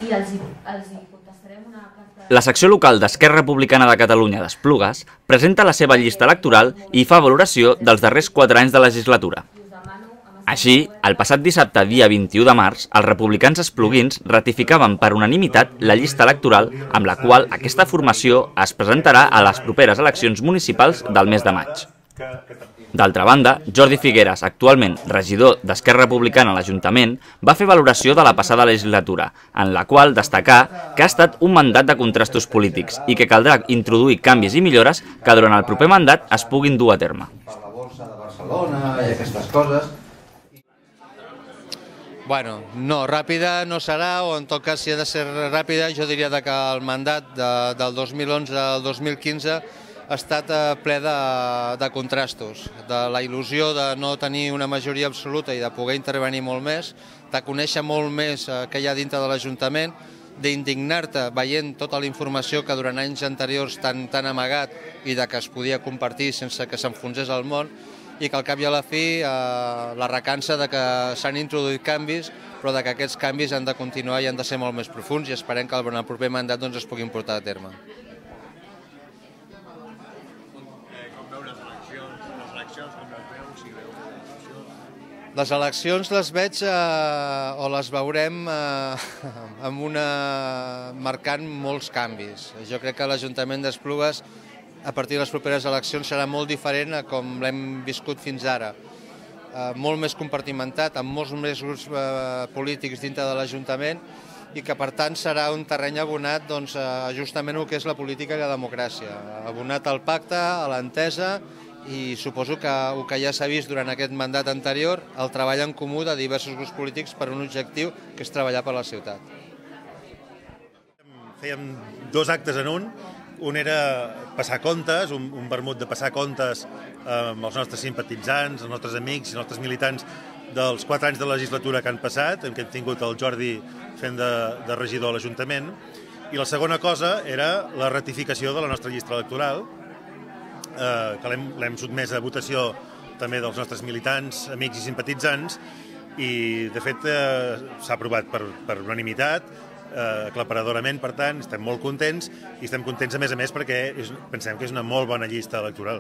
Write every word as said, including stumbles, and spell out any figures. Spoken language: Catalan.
I els hi contestarem una carta... La secció local d'Esquerra Republicana de Catalunya d'Esplugues presenta la seva llista electoral i fa valoració dels darrers quatre anys de legislatura. Així, el passat dissabte, dia vint-i-u de març, els republicans espluguins ratificaven per unanimitat la llista electoral amb la qual aquesta formació es presentarà a les properes eleccions municipals del mes de maig. D'altra banda, Jordi Figueres, actualment regidor d'Esquerra Republicana a l'Ajuntament, va fer valoració de la passada legislatura, en la qual destacà que ha estat un mandat de contrastos polítics i que caldrà introduir canvis i millores que durant el proper mandat es puguin dur a terme. Per la borsa de Barcelona i aquestes coses. Bueno, no, ràpida no serà, o en tot cas si ha de ser ràpida, jo diria que el mandat del dos mil onze al dos mil quinze ha estat ple de contrastos, de la il·lusió de no tenir una majoria absoluta i de poder intervenir molt més, de conèixer molt més què hi ha dintre de l'Ajuntament, d'indignar-te veient tota la informació que durant anys anteriors t'han amagat i que es podia compartir sense que s'enfonsés el món, i que al cap i a la fi la recança de que s'han introduït canvis, però que aquests canvis han de continuar i han de ser molt més profuns, i esperem que en el proper mandat es puguin portar a terme. Les eleccions les veig o les veurem marcant molts canvis. Jo crec que l'Ajuntament d'Esplugues a partir de les properes eleccions serà molt diferent a com l'hem viscut fins ara. Molt més compartimentat, amb molts més grups polítics dintre de l'Ajuntament, i que per tant serà un terreny abonat justament el que és la política i la democràcia. Abonat al pacte, a l'entesa, i suposo que el que ja s'ha vist durant aquest mandat anterior, el treball en comú de diversos grups polítics per un objectiu, que és treballar per la ciutat. Fèiem dos actes en un. Un era passar comptes, un vermut de passar comptes amb els nostres simpatitzants, els nostres amics i els nostres militants dels quatre anys de legislatura que han passat, en què hem tingut el Jordi fent de regidor a l'Ajuntament. I la segona cosa era la ratificació de la nostra llista electoral, que l'hem sotmès a votació també dels nostres militants, amics i simpatitzants, i de fet s'ha aprovat per unanimitat, aclaparadorament, per tant, estem molt contents, i estem contents a més a més perquè pensem que és una molt bona llista electoral.